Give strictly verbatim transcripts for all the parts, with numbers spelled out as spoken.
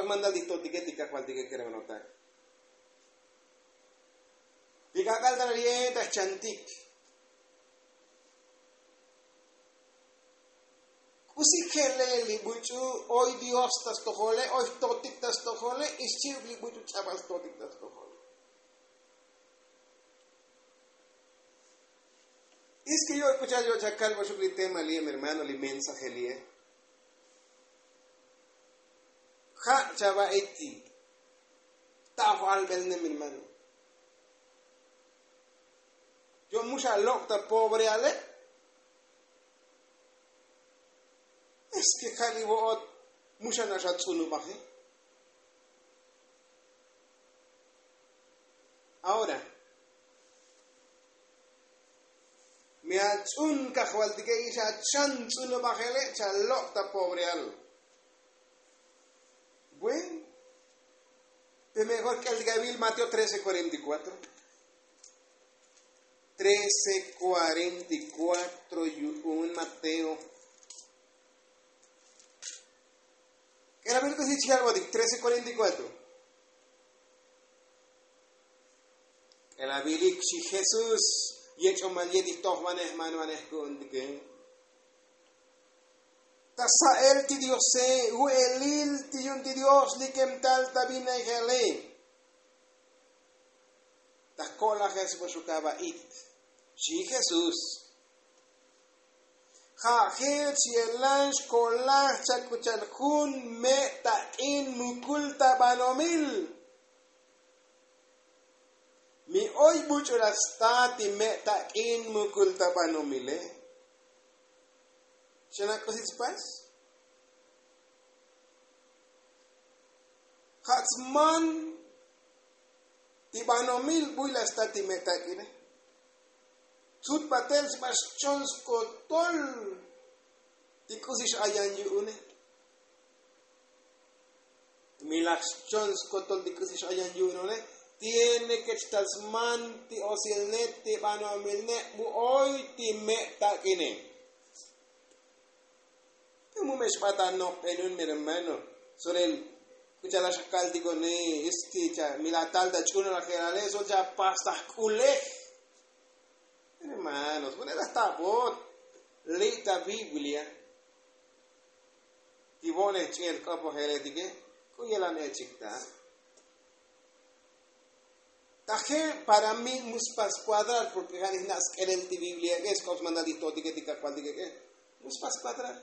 Mandal ti totike ti kajvaltike keremanotak. Ti k'ak'al ta ra'ye ta jchantik. K'usi je'lel li buch'u oy dios ta stojole, oy jtotik ta stojole, ixchi'uk li buch'u ch'abal jtotik ta stojole. Iske yo'y k'ucha'al yo'chakal boxuk li tema li'e mi hermano li mensaje li'e. Ja' chava'ik ti ta'oj albelne mi hermano. Yo' mu xa lok' ta pobreale. Eske ja' li vo'ot mu xa na' xa tz'unubaje. Ahora mi atz'un kajvaltike y xa chan tz'unubajele' cha lok' ta pobreal. Buen. Pe mejor k'eltik avil mateo trece cuarenta y cuatro. Trece cuarenta y cuatro yu'un mateo. K'elabil k'usi chijal botik trece cuarenta y cuatro. K'elabilik xi jesús yech'omal ye' ti jtojvanej manvanej ku'untike. Ta sa'el ti diose vu'elil ti yu'un ti dios li kemtal ta vinejale. Ta jko'lajel sbo xukava'it xi jesús. Ja' jech yelan xko'laj chak k'ucha'al jun me' tak'in mukul ta banomil. Mi oy buch'u la sta ti me' tak'in mukul ta banomile. Xana' k'usi tspas. Ja' tsman ti banomil buy la sta ti me' tak'ine. Tsut batel xba xchon skotol ti k'usi x'ayan yu'une. Mi laj xchon skotol ti k'usi x'ayan yu'une tiene ke chtal sman ti osilne ti banomilne bu oy ti me' tak'ine. Pe mu me' xbat anokbenun mi hermano. Sorel k'ucha'al axa kaltikone este cha mi laj tal ta ch'unalajelale sol cha pas ta jk'ulej. Hermanos vune' laj ta avot li' ta biblia. Ti vo'nej ch'i'el k'opojeletike k'u yelan echik ta. Taje' para mi mu spas kuadrar porke ja' nijna' sk'elel ti biblia ek'e sk'op smandal ti jtotike ti kajvaltike ek'e. Mu spas kuadrar.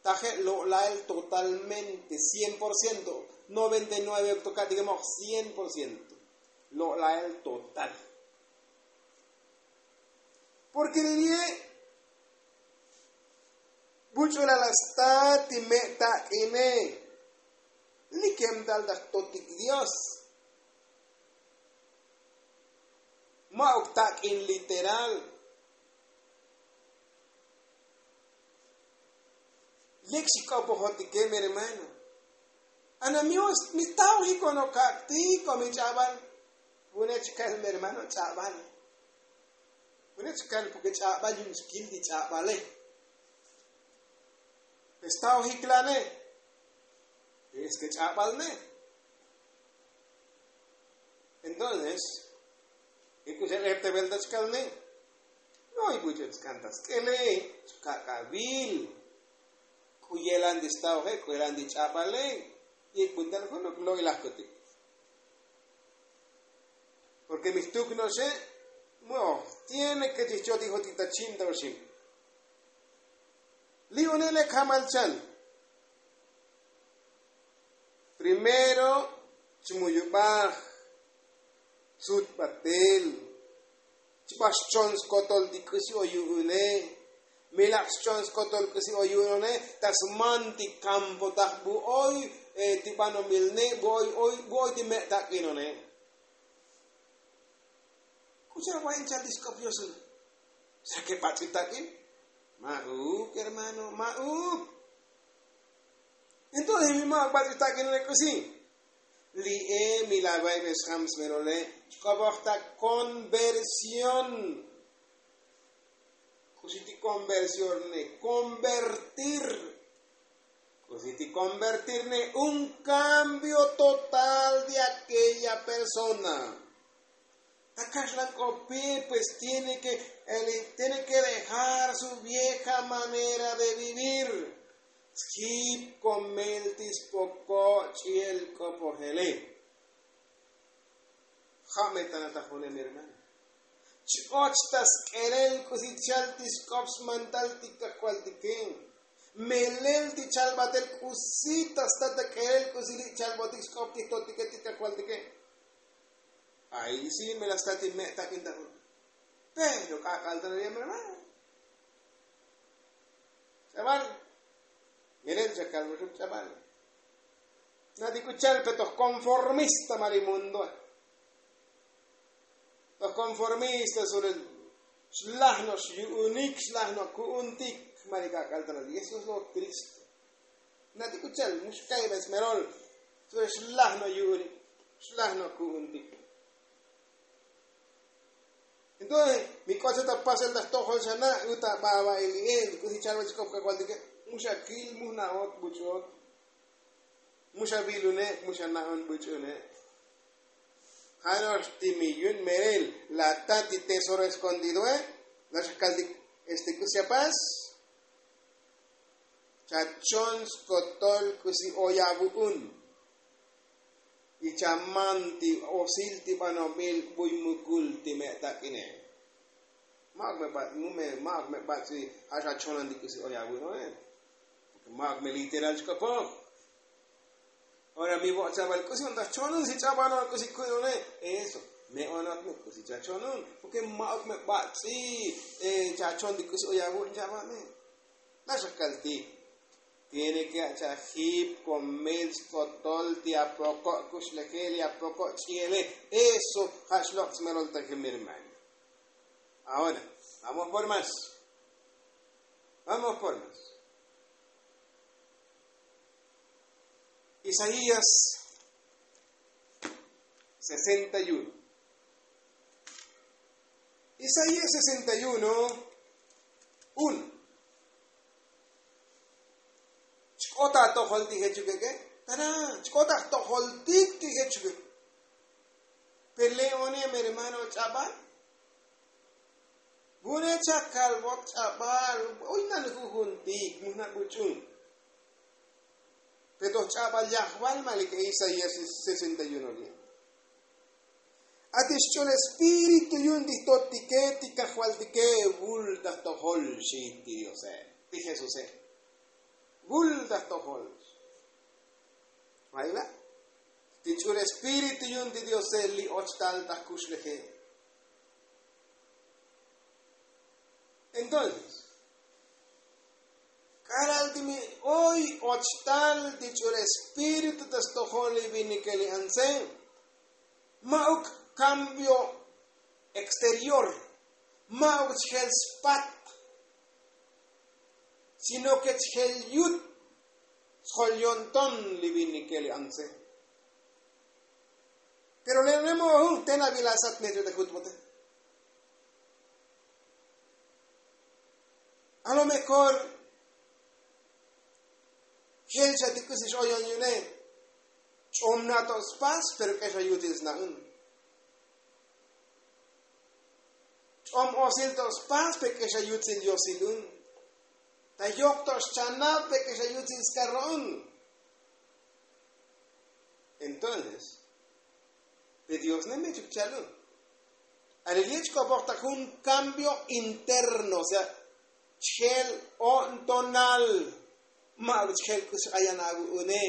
Taje' lo'lael totalmente cien por ciento. Noventa y nueve oktoka'tike moj cien por ciento. Lo'lael total. Porke li' li'e buch'u la la sta ti me' tak'ine. Li kemtal ta jtotik dios. Ma'uk tak'in literal. Lek xik'opojotike mi hermano. Ana mi taojik ono kak' ti ko mi ch'abal. Vune' chikal mi hermano ch'abal. Vune' chikal porke ch'abal yu'un xkil ti ch'abale. Pestaojik lane. Eske ch'abal ne. Entonces ik'uxel ejtevel ta chkalne. No ik'uxel chkan ta sk'ele chkak'avil. K'u yelan ti staoje k'u yelan ti ch'abale. Ik'buntal junuk lo'ilajkutik. Porke mi jtuk no'oxe. Mu'oj tiene ke chijchotik jotik ta chim ta oxim. Li' une' lek jamal chal. Primero chmuyubaj. Tzut batel. Chba xchon skotol ti k'usi o yu'une. Mi lak xchon skotol k'usi o yu'une ta sman ti kampotaj bu oy ti banomilne bu oy oy bu oy ti me' tak'inone. K'ucha' va'in chal ti sk'op yosun. Sake bats'i tak'in. Ma'uk hermano ma'uk. Entonces mi ma'uk bats'i tak'in le k'usi. Li'e mi la va'ibej xjam smelole chk'opoj ta konversión. K'usi ti konversión ne konvertir. Pues si ti konvertirne un kambio total de akeya persona. Ta kaxlan k'opi pues tiene ke tiene ke dejar su vieja manera de vivir. Skip komel ti spoko' ch'iel k'opojele. Ja' me tana ta june mi hermano. Ch'och ta sk'elel k'usi chal ti sk'op smantal ti kajvaltike. Melel ti chal batel k'usi ta sta ta k'elel k'usi li' chalbotik sk'op ti jtotike ti kajvaltike. Ay si me la sta ti me' tak'in ta jun. Pero k'ak'al ta la yem hermano. Ch'abal. Melel chakal muxuk ch'abal. Na ti k'u chal pe toj konformista ma li mundoe. Toj konformista sulel xlaj no' xyu'unik xlaj no' ku'untik. Ma li k'ak'al ta la yem jesús lo' kristo. Na ti k'u chal mux ka'ibal smerol. Sulel xlaj no' yu'unik xlaj no' ku'untik. Entonces mi k'otze ta pasel ta jtojol xa na' u ta baba' ili'e' k'usi chalbal chik'op kajvaltike. Mu xa kil mu jna'ot buch'ot. Mu xa vilune' mu xa na'on buch'une'. Ja' no'ox ti mi yun merel la ta ti tesoro eskondidoe. La xa kaltik este k'usi apas. Chachon skotol k'usi oy avu'un. Y chaman ti osil ti banobil buy mukul ti me' tak'ine. Ma'uk me ba' ma'uk me ba' ti ja' xachonan ti k'usi oy avu'un. Ma'uk me literal chk'opoj. Ora mi vo'ot chabal k'usi on ta jchonun si ch'abal on k'usi ku'un one. Eso me onot me k'usi chachonun porke ma'uk me ba' ti chachon ti k'usi oy avu'un chabal me. Naxakal ti tiene ke achajib komel skotol ti apoko' kuxlejel y apoko' ch'iele. Eso ja' xlok' smelol ta jun mi hermano. Ahora vamos por mas. Vamos por mas. Isaías sesenta y uno. Isaías sesenta y uno uno. Chk'ot atojol ti jechukeke. Tana chk'ot ajtojol ti ti jechuke. Pele'one mi hermano ch'abal. Vune' chakal vot ch'abal. Oy nal jujun ti mujna' buch'un. Pe toj ch'abal yajval ma' li k'e isaías sesenta y uno li'. Ati xch'ul espíritu yu'un ti jtotike ti kajvaltike. Vul ta jtojol xi ti diose ti jesuse. Vul ta jtojol. Vayla ti ch'ul espíritu yu'un ti diose li och tal ta jkuxleje. Entonces k'alal ti mi oy och tal ti ch'ul espíritu ta stojol li vinike li antse. Ma'uk kambio exterior. Ma'uk chjel spat sino ke chjel yut sjol yonton li vinike li antse. Pero le' le' mo'ojun te na vila sat me te jutbote. A lo mejor jel xa ti k'usi x'oyon yu'une. Ch'om na to' spas pero k'exa yutil sna'un. Ch'om osil to' spas pero k'exa yutil yosilun. Ta yok to' xchanab pero k'exa yutil skarro'un. Entonces pe dios ne me chuk chalun. Alil ye' chk'opoj ta jun kambio interno o sea chjel o'ntonal. Ma'uk chjel k'usi x'ayan avu'une.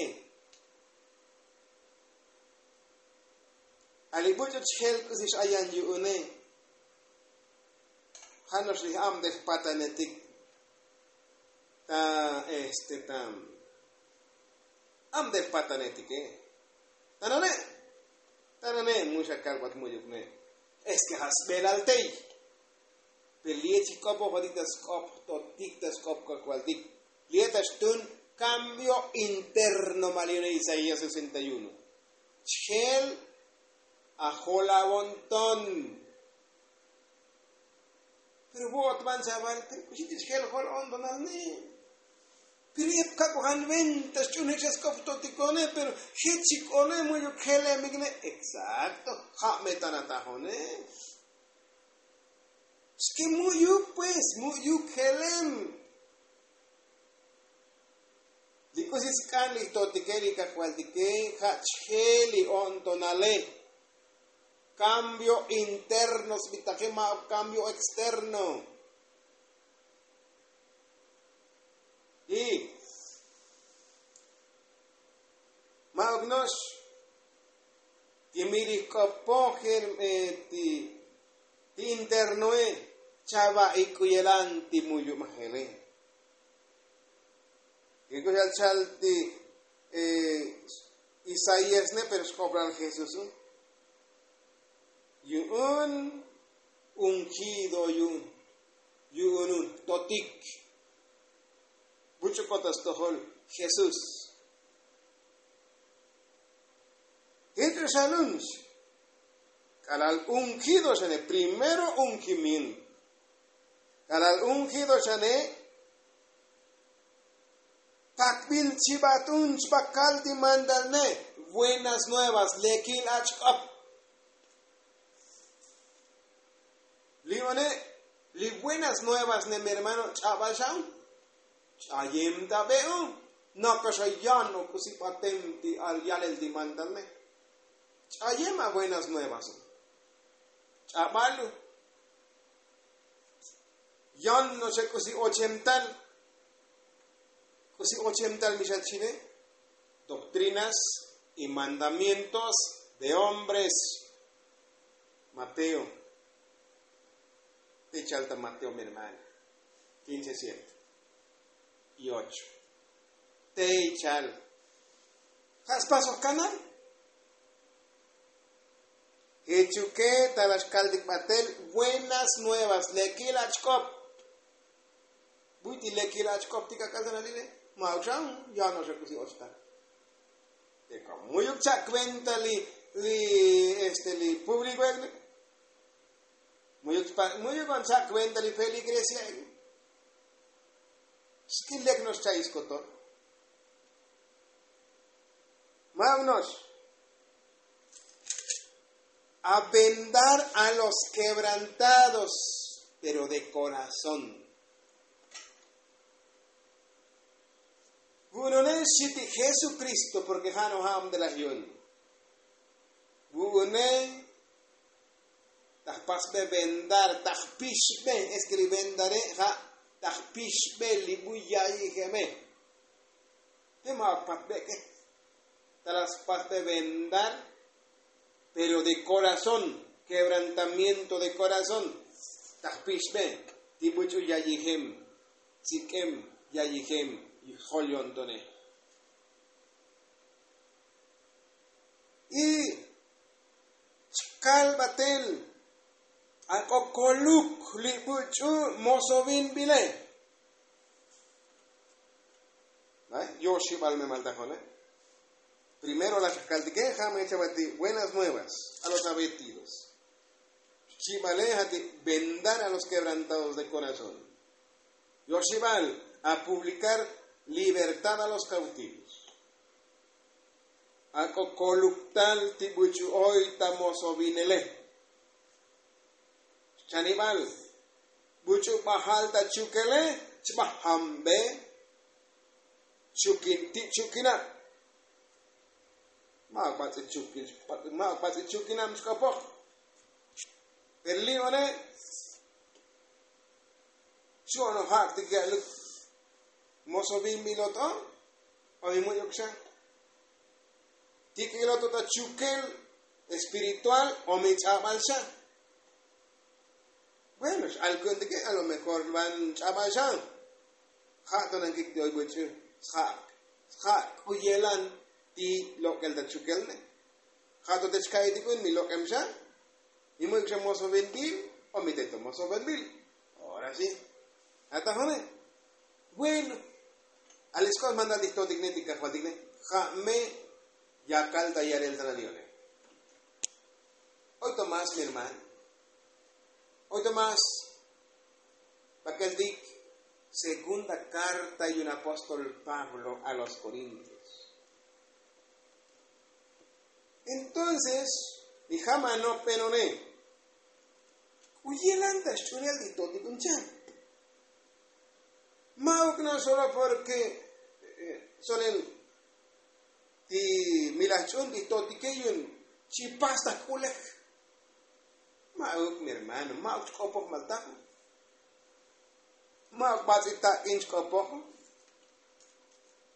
Alil buch'u chjel k'usi x'ayan yu'une. Ja' no'ox li abdej patanetik ta este ta abdej patanetike. Tanane' tanane' mu xa kalbat mu'yuk ne'. Eske ja' sbelal tey. Pe li'e' chik'opojotik ta sk'op jtotik ta sk'op kajvaltik. Li'e' ta xtun kambio interno ma' li' yu'une isaías sesenta y uno. Chjel ajol avonton. Pero vo'ot van chaval pero k'uxi ti chjel jol ontonal ne'. Pero ep kak'ojan venta xch'unej xa sk'op totikone pero jech chik'one mu'yuk jelemikne. Exacto. Ja' me tan atajone. Xki mu'yuk pues mu'yuk jelem. Li k'usi sk'an li jtotike li kajvaltike ja' chjel li o'ntonale. Kambio interno sbitaje ma' kambio externo. Y ma'uk no'ox ti miri jk'opoj ti internoe. Chava ik'uyelan ti muyu' majele. Kek'uxal chal ti isaías ne pero xk'opral jesús un yu'un ungido yu'un yu'un un totik buch'u kota stojol jesús. Jech o xanunx k'alal ungido xane primero ungimiento k'alal ungido xane. Takbil chibat un chbakal ti mandalne buenas nuevas lekil achk'op. Li one li buenas nuevas ne mi hermano ch'abal xa un ch'ayem ta be un. Naka xa yan o k'usi batem ti al yalel ti mandalne. Ch'ayem a buenas nuevas un ch'abal un. Yan no'ox xa k'usi ochem tal k'usi ochem tal mi xa chine doctrinas y mandamientos de hombres. Mateo. Te ichal ta mateo mi hermano. Quince siete y ocho. Te ichal ja' spasoj kanal. Jechuke ta la xkaltik batel buenas nuevas lekil achk'op. Buy ti lekil achk'op ti kak'al ta nalile. Ma'uk xa un yan no'ox xa k'usi ochtal. Te ka mu'yuk cha' kuenta li li este li publiko ek'ne. Mu'yuk on cha' kuenta li feligresia ek'ne. Xkil lek no'ox cha'i skotol. Ma'uk no'ox a vendar a los kebrantados pero de korazón. Vu'unone xchi ti jesukristo porke ja' no ja'am te laj yu'un. Vu'une ta jpasbe vendar ta jpixbe. Eske li vendare ja' ta jpixbe li buy ya'iyijeme. Te ma' patbek'e ta la spasbe vendar. Pero de korazón kebrantamiento de korazón ta jpixbe ti buch'u yayijem tsik'em yayijem jol yo'ntone. Y chkal batel ak'o koluk li buch'u mosovinbile. Yoxibal me maltajone. Primero la xakaltike ja' me chabati buenas nuevas a los avetidos. Xchibale ja' ti vendar a los kebrantados de korazón. Yoxibal a publikar libertad a los kautivos. Ak'o koluktal ti buch'u oy ta mosovinele. Xchanibal buch'u bajal ta chukele chbajambe. Chukin ti' chukinab. Ma'uk batz'i chukin ma'uk batz'i chukinab xk'opoj. Pero li' one chu'on o ja' ktik ya'luk moso bin mi lot'o. O mi mu'yuk xa ti' k'ilot o ta chukel espiritual o mi ch'abal xa. Bueno x'al ku'untike a lo mejor van ch'abal xa. Ja' to nankik ti oy buch'u sja' sja' k'u yelan ti lok'el ta chukel ne. Ja' to te chka'iy ti k'un mi lok'em xa. Mi mu'yuk xa moso bin bil o mi te to moso bin bil. Ora si atajone. Bueno. Alisk'ot mandal ti jtotik ne ti kajvaltik ne ja' me yakal ta yalel ta nalione. Oy to más mi hermano. Oy to más bakeltik. Segunda karta yu'un apóstol pablo a los korintios. Entonces li ja' ma' nopbenone k'u yelan ta xch'unel ti totik un chan. Ma'uk na' solo porke solel ti milaj ch'un ti totike yu'un chi pas ta k'ulej. Ma'uk mi hermano, ma'uk chk'opoj maltaj. Ma'uk bats'il tak'in chk'opoj.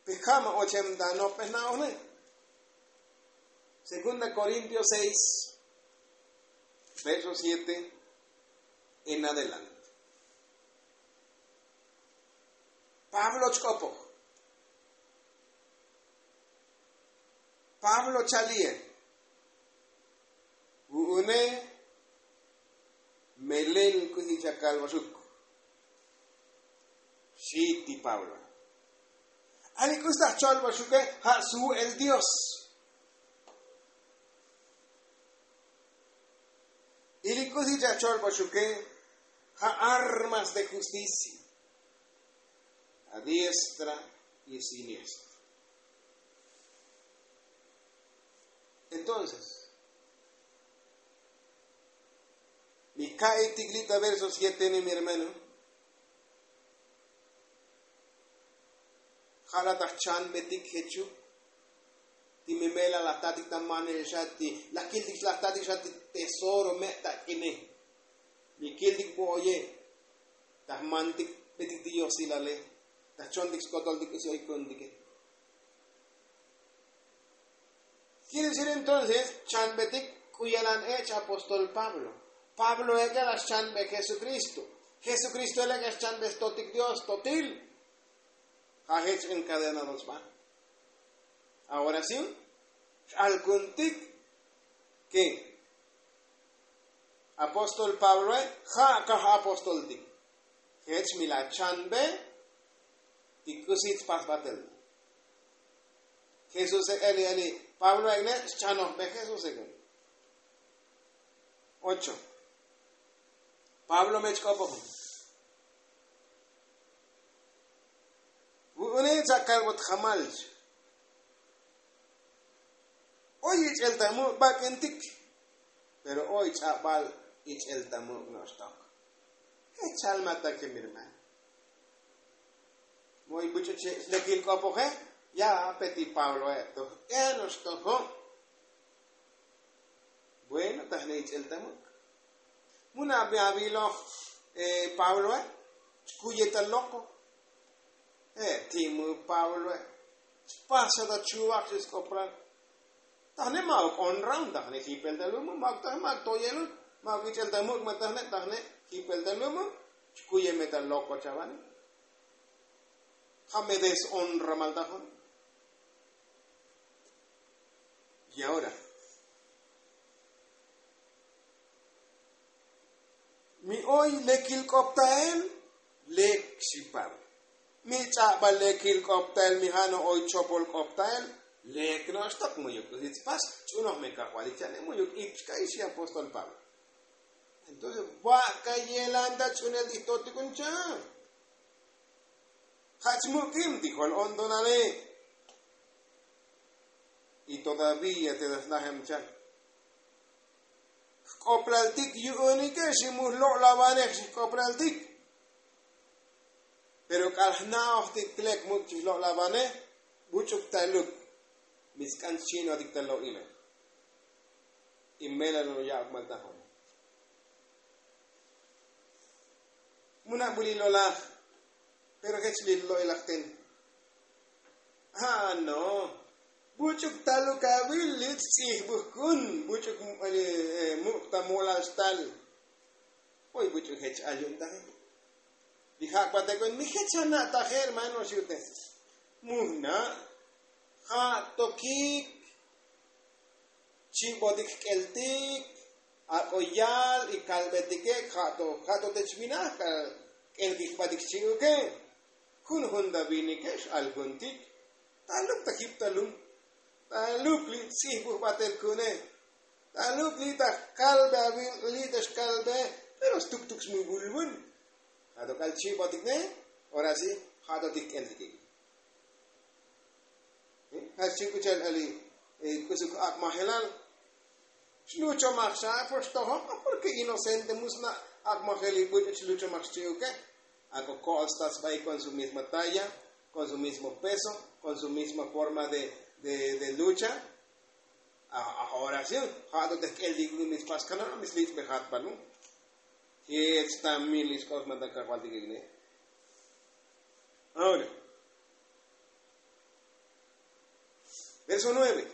Pe ja' ma' ochem ta nopbej na'oj ne'. Segunda korintios seis, verso siete en adelante. Pablo chk'opoj. Pablo chalie. Vu'une, melel k'usi chakalbaxuk. Xi ti pablo. Ali k'usi ta jcholbaxuke ja' svu'el dios. Y li k'usi chacholbaxuke ja' armas de justicia a diestra y siniestra. Entonces mi ka'itik li' ta verso siete ni mi hermano. Ja' la ta jchanbetik jechuk ti mi melal laj tatik ta manel xa ti laj kiltik laj tatik xa ti tesoro me' tak'ine. Mi kiltik bo'oye ta jmantik betik ti yosilale ta jchontik skotoltik k'usi oy ku'untike. Kir decir entonces chanbetik k'u yalan ech' apóstol pablo. Pablo ek'e la xchanbe jesukristo. Jesukristo el ek'e xchanbe stotik dios totil. Ja' jech enkadena dos ba. Ahora si x'alkuntik ke apóstol pabloe ja' kaj apóstoltik. Jech mi la chanbe ti k'usi tpasbatel. Jesuse' eli eli pablo ek'ne' xchanojbe jesuse' k'u. Ocho. Pablo me chk'opoj. Vu'une' chakalbot jamal. Oy ich'el ta muk' bak'intik. Pero oy ch'abal ich'el ta muk' no'xtok. Jech chalmatake mi hermano. Moy buch'u che' slekil k'opoje. Ya pe ti pabloe to. Enoxtojo'. Bueno tajne ich'el ta muk'. Muna' aviloj pabloe. Chkuye ta loko. Je' ti' mu pabloe. Chpas xa ta chuvak xi sk'opral. Tajne ma'uk onra un tajne jipel ta lumu ma'uk tajne ma'uk toyelun. Ma'uk ich'el ta muk' ma tajne tajne jipel ta lumu. Chkuye me ta loko chavane. Ja' me deshonra maltajon. Y ahora mi oy lekil k'optael. Lek xi pablo. Mi ch'abal lekil k'optael mi ja' no' oy chopol k'optael. Lek no'oxtok mu'yuk k'usi tspas. Ch'unoj me kajvalil cha'ne mu'yuk ik chka'i xi apóstol pablo. Entonces va'ka yelan ta ch'unel ti jtotikun cha'. Ja' chmuk'im ti jol ontonale. Y todavía te ta snajem cha'. Jk'oplaltik yu'unike xi mu jlo'lavanej xi jk'oplaltik. Pero k'al jna'ojtik lek muk' chi jlo'lavanej. Buch'uk ta luk. Mi sk'an chinotik ta lo'ile. Y melal lo ya'ok maltajon. Muna' bu li lolaj. Pero jech li lo'ilaj ten. A no. Buch'uk taluk avil li tz'ijbuj kun. Buch'uk muk' ta molal xtal. Oy buch'uk jech al yu'un taje. Li ja' k'uatekon mi jech ana' taje hermano xi ute. Mujna' ja' tokik. Chi'botik jk'eltik. Ak'o yal y kalbetike. Ja' to ja' to te chvinaj k'al k'elkik jbatik xchi'uke. Junjun ta vinike x'alkuntik. Taluk ta jip ta lum. Taluk li' tz'ijbuj batel ku'une. Taluk li' ta kalbe avil li' ta xkalbe. Pero stuktuk smuvulvun. Ja' to k'al chi'botik ne. Ora si ja' to ti k'el ti kik'. Ja' xchi k'u cha'al ali k'usuk ak'majelal. Xluchomaj xa' por xtojo' porke inocente mu sna' ak'majel li buch' xluchomaj xchi'uke. Ako ko'ol sta sba'i kon su misma talla, kon su mismo peso, kon su misma forma de de lucha. Aj oración ja' to te jk'el ti k'u mi spas kana' mi slich'bejat balu. Jech ta mil ixk'ob smantan kajval ti kik'ne. Ahora, verso nueve.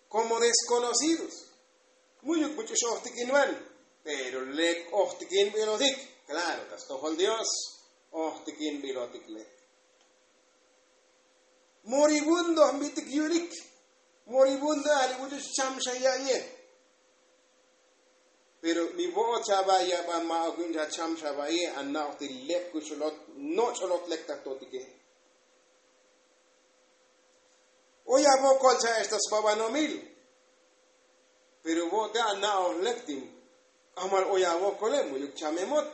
Komo deskonocidos mu'yuk buch'u x'ojtikinban. Pero lek ojtikinbilotik. Klaro ta stojol dios ojtikinbilotik lek. Moribundo jbitik yu'lik. Moribundo ali buch'u xcham xa ya'iye. Pero mi vo'ot xa ba' yaba' ma'uk yu'un xa cham xa ba'iye ana'oj ti lek kuxulot noch'olot lek ta totike. Oy avokol cha'ex ta sbabanomil. Pero vo'te ana'oj lek ti k'ajmal oy avokole mu'yuk chamemot.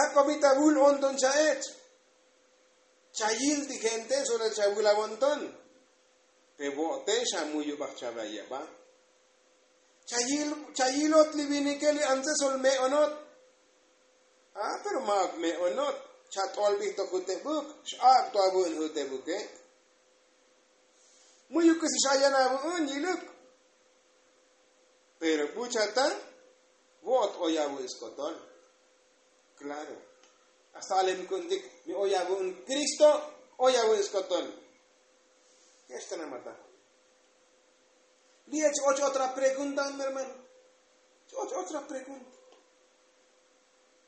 Ak'o bi ta vul onton cha'ech. Chayil ti gente solel chavul avonton. Pe vo'te xa mu'yubaj chave ayaba. Chayilot li vinike li antze sol me'onot. A pero ma'uk me'onot. Chat'olbij to jutebuk x'ak' to avu'un jutebuke. Mu'yuk k'usi x'ayan avu'un yiluk. Pero buchata vo'ot oy avu'un skotol. Klaro. Hasta alem ku'untik mi oy avu'un kristo oy avu'un skotol. Kextanamata. Li' ech och otra pregunta mi hermano. Ech och otra pregunta.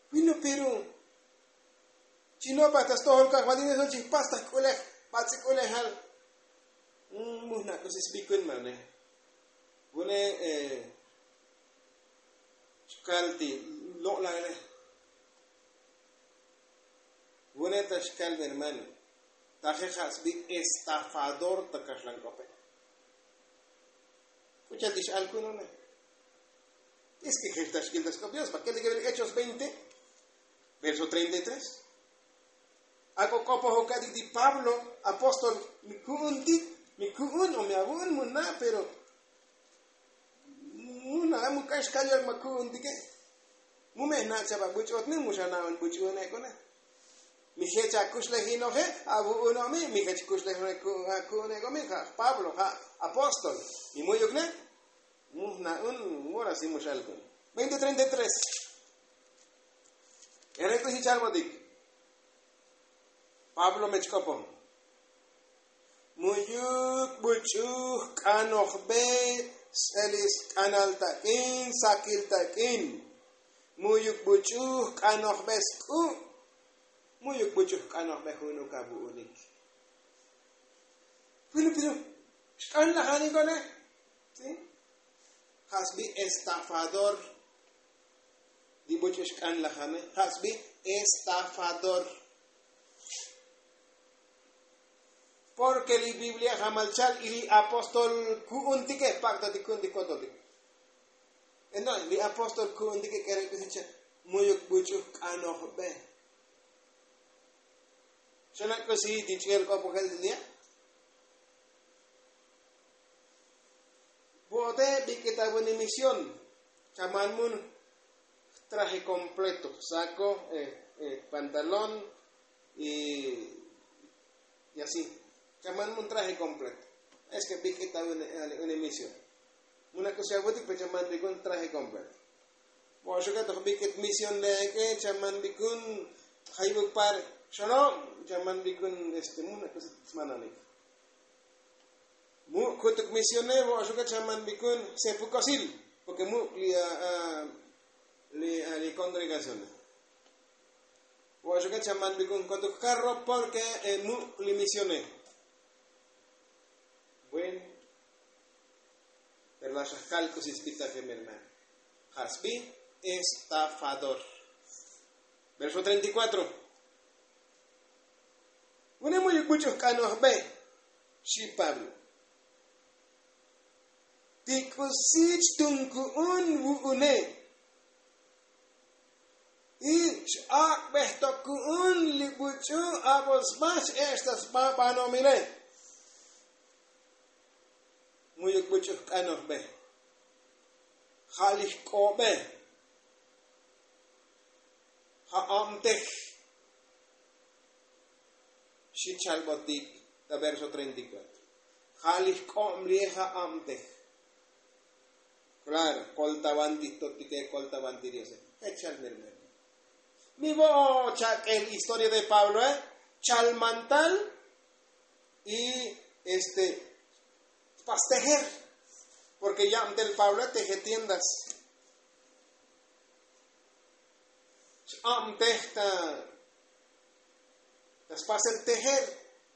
Bueno pero chi no'baj ta stojol kajvalil eso chi jpas ta jk'ulej. Bats'i k'ulejal. Mujna' k'usi sbikun mane. Vune xkal ti lo'lale. Vune ta xkal mi hermano. Taje ja' sbi estafador ta kaxlan k'ope. K'u cha'al ti x'al ku'un one. Es ke jech ta xkil ta sk'op dios ba kel ti kebel hechos veinte verso treinta y tres. Ak'o k'opoj uka'tik ti pablo apóstol mi ku'untik mi ku'un o mi avu'un mu na' pero mu na' mu k'ax kal yol ma ku'untike. Mu me' na' chaba buch'otne mu xa na'on buch'u'unek one. Mi jech akuxlej inoje avu'unomi mi jech kuxlej ku'unek omi ja' pablo ja' apóstol. Mi mu'yuk ne mu jna'un. Mora si mu xal ku'un veinte treinta y tres. K'ere' k'usi chalbotik. Pablo me chk'opon. Mu'yuk buch'u jk'anojbe. S'elis k'anal tak'in sakil tak'in. Mu'yuk buch'u jk'anojbe sk'u'. Mu'yuk buch'u jk'anojbe ju'unuk avu'unik. Bueno pero xk'an lajanik one. Ja' sbi estafador. Li buch'u xk'an lajane ja' sbi estafador. Porke li biblia jamal chal y li apóstol ku'untike jpak'totik ku'untik kototik. Entonces li apóstol ku'untike k'ere' k'usi cha' mu'yuk buch'u jk'anojbe. Xana' k'usi ti ch'el k'opojel ti nia'. Vo'ote bik'it avuni misión. Chaman mun traje kompleto sako, pantalón y asi. Chaman mun traje kompleto. Es ke bik'it avuni misión. Muna' k'usi avutik pe chaman bik'un traje kompleto. Vo'oxuke toj bik'it misión le'eke chaman bik'un. Jayvuk par xolo' chaman bik'un este muna' k'usi smananik. Muk' kutuk misione vo'oxuke chaman bik'un sepukosil. Porke muk' li li kongregacione. Vo'oxuke chaman bik'un kotuk karro porke muk' li misione. Bueno. Pero la xajkal k'usi sbitaje mi hermano. Ja' sbi estafador. Verso treinta y cuatro. Vune mu'yuk buch'u jk'anojbe. Xi pablo. Ti k'usi chtun ku'un vu'une. Y x'ak'bej to ku'un li buch'u abosba x'ech' ta sba banomile. Mu'yuk buch'u jk'anojbe ja' li jk'obe ja' abtej. Xi' chalbotik ta verso treinta y cuatro. Ja' li jk'ob li' ja' abtej. Klaro, koltavan ti jtotike, koltavan ti diose. Jech chal mermero. Mi vo' chak'el historia de pabloe. Chalmantal y este pastejer. Porke yabtel pabloe teje tiendas. X'abtej ta ta spasel tejer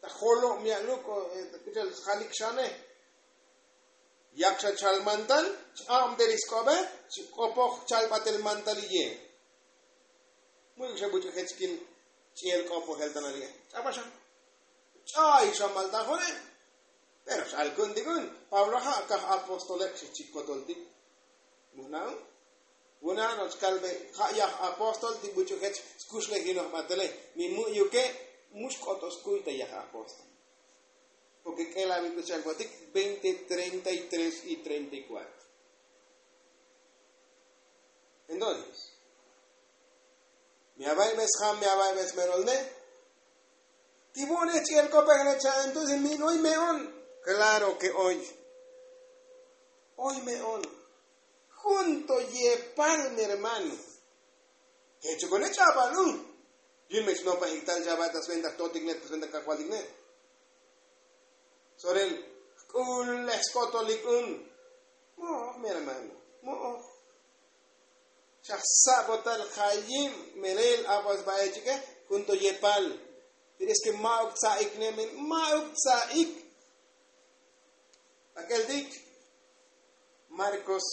ta jolob ya'luk o ta k'uchal sjalik xane. Yak xa chal mantal x'abtej li sk'obe. Xk'opoj chal batel mantal li ye. Mu'yuk xa buch'u jech kin ch'iel k'opojel ta nali'e. Ch'apa xa ch'ay xa maltajone. Pero x'al ku'un ti ku'un pablo ja' kaj apostole xi chik kotol ti. Mu'na'un. Vu'na' no'ox kalbe ja' yaj apóstol ti buch'u jech skuxlejinoj batele. Mi mu'yuke' mu xk'oto skuy ta yaj apóstol. Porke k'ela' mi k'uchal botik veinte treinta y tres y treinta y cuatro. Entonces mi avaybes jam mi avaybes merolne. Ti vu'une' ch'i'el kopejne cha'an entonces mi oy me'on. Klaro ke oy. Oy me'on. Jun to yepal mi hermano. Jechukune' ch'abal un. Yun me chnopajik tal chaba' ta sventa jtotikne ta sventa kajvaltikne. Sorel jk'ulej skotolik un. Mo'oj mi hermano. Mo'oj. Xa jsabotal jayib melel abo' sba'e chike. Jun to yepal. Pero es ke ma'uk tsa'ik ne men ma'uk tsa'ik. Ak'el tik. Marcos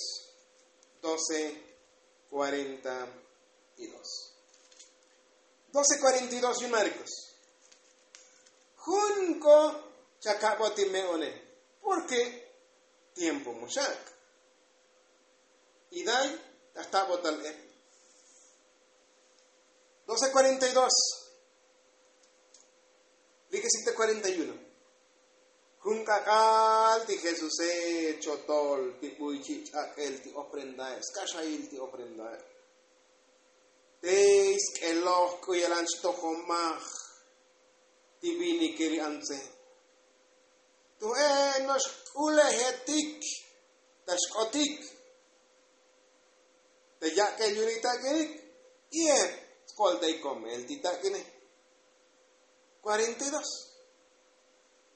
doce cuarenta y dos. Doce cuarenta y dos yun marcos. Jun ko chakaboti me'one. Porke tiempo muxak. Iday ta jtabotal e. Doce cuarenta y dos. Likesik ta cuarenta y uno. Jun k'ak'al ti jesuse chotol ti buy chi' ch'ak'el ti ofrendae skaxayil ti ofrendae. Tey sk'eloj k'u yalan xtojomaj ti vinike li antse. Tu'e no'ox jk'ulejetik ta xk'otik. Ta yak'el yu'un li tak'inik. Y e skoltay komel ti tak'ine. Cuarenta y dos.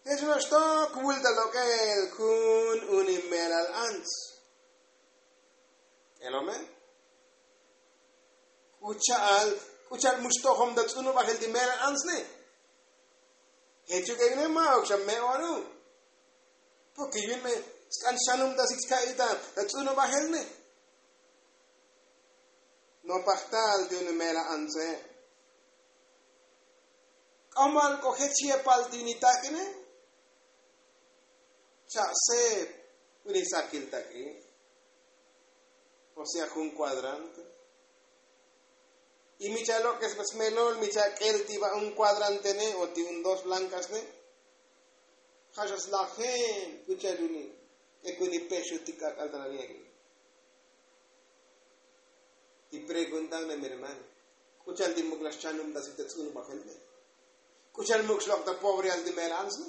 Jesús no'ox tok vul ta lok'el jun uni melal ants. K'elome. K'ucha'al k'ucha'al mu xtojom ta tz'unubajel ti melal antsne. Jechuk ek'ine ma'uk xa me'onu. Porke yu'un me sk'an xchanubtasik chka'itan ta tz'unubajel ne. Nopaj tal ti uni melal antse. K'amal k'o jech yepal ti uni tak'ine. Cha'seb uni sakil tak'in. O sea jun kuadrante. Y mi cha' lok'es smelol mi cha' k'el ti ba un kuadrantene o ti un dos blankasne. Ja' xa slajen k'ucha'al uni k'ekuni pexutik k'ak'al ta nani' ak'in. Ti preguntan me mi hermano. K'ucha'al ti muk la xchanubtasik ta tz'unubajel ne. K'ucha'al muk xlok' ta pobreal ti mela'an snu.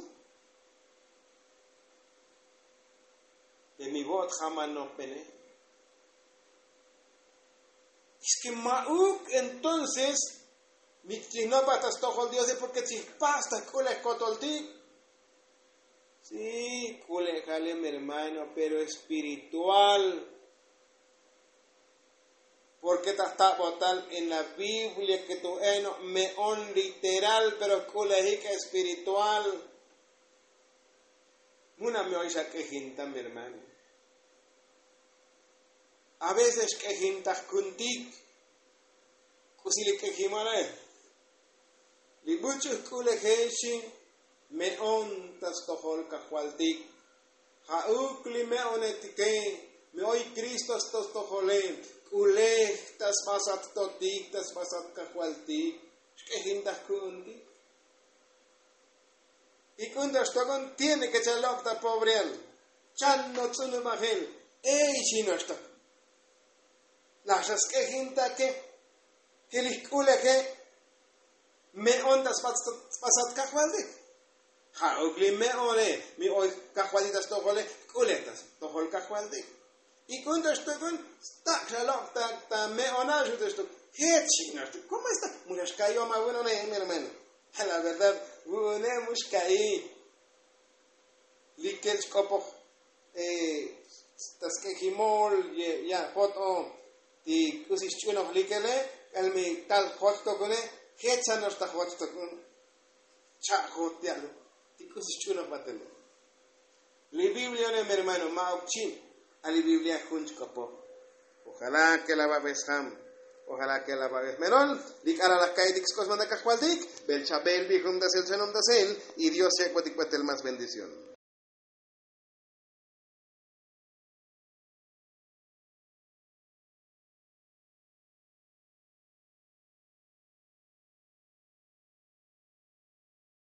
Pe mi vo'ot jamanopene. Eske ma'uk entonces mi chijnopaj ta stojol diose porke chijpas ta jk'ulej kotoltik. Si jk'ulejale mi hermano pero espiritual. Porke ta jtabotal en la biblia ke tu eno' me'on literal pero jk'ulejik espiritual. Muna' mi oy xa k'ejinta mi hermano. A veces xk'ejinta jkuntik. K'usi li k'ejimale? Li buch'u jk'uleje xi me'on ta stojol kajvaltik. Ja'uk li me'onetike. Mi oy kristo sto stojole, k'ulej ta sbasat totik ta sbasat kajvaltik. Xk'ejintaj ku'untik. Y k'unta xtokon tiene ke chalok' ta pobrial. Chan notz'unubajel. Ey xinoxtok. Laj xa sk'ejintake. Ke lij k'uleje. Me'on ta sbasat kajvaltik. Ja'uk li me'one. Mi oy kajvaltik ta stojole. K'ulej ta stojol kajvaltik. Y k'unta xtokon stak' xalok' ta me'ona xute xtok. Jech xinoxtok. Komo esta? Mu xa xka'iy o ma vu'une mi hermano. A la verdad vu'une mu xka'iy. Likel chk'opoj ta sk'ejimol. Ya' jot'o ti k'usi xch'unoj likele. K'al mi tal jot tokune. Jech xanoxta jot tokun. Cha' jot ya'lo ti k'usi xch'unoj batele. Li biblia ne mi hermano ma' ok chi'. A li biblia jun chk'opoj. Ojala ke la babes jam. Ojala ke la babes melol. Li k'ala' laj ka'itik sk'osmanda kajvaltik. Bel chabel bijum tasel chanom tasel. Y dios yak'botik batel más bendición.